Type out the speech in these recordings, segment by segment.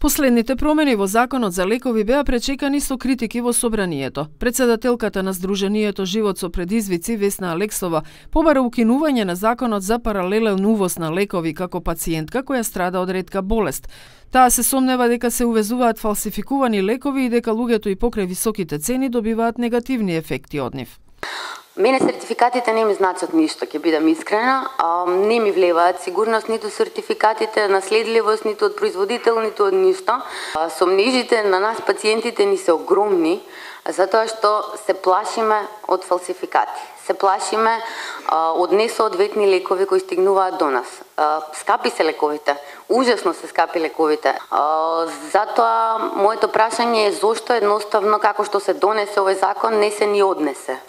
Последните промени во Законот за лекови беа пречекани со критики во собранието. Председателката на Сдруженијето Живот со предизвици Весна Алексова побара укинување на Законот за паралелен увоз на лекови како пациентка која страда од ретка болест. Таа се сомнева дека се увезуваат фалсификувани лекови и дека луѓето и покрај високите цени добиваат негативни ефекти од нив. Мене сертификатите не ми значат ништо, ќе бидам искрена, не ми влеваат сигурност ниту сертификатите на следливост, ниту од производител, ниту од ништо. Сомнежите на нас пациентите ни се огромни, затоа што се плашиме од фалсификати. Се плашиме од несоодветни лекови кои стигнуваат до нас. Скапи се лековите, ужасно се скапи лековите. Затоа моето прашање е зошто едноставно како што се донесе овој закон не се ни однесе.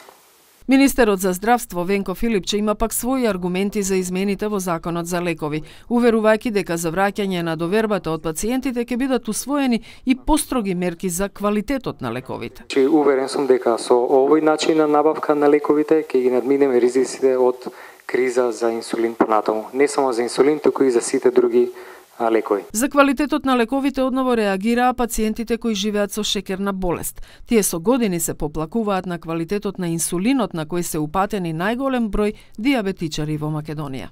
Министерот за здравство Венко Филипче има пак своји аргументи за измените во Законот за лекови, уверувајќи дека за враќање на довербата од пациентите ќе бидат усвоени и построги мерки за квалитетот на лековите. Уверен сум дека со овој начин на набавка на лековите ќе ги надминеме ризиците од криза за инсулин понатаму. Не само за инсулин, туку и за сите други лекови. За квалитетот на лековите одново реагираа пациентите кои живеат со шекерна болест. Тие со години се поплакуваат на квалитетот на инсулинот на кој се упатени најголем број дијабетичари во Македонија.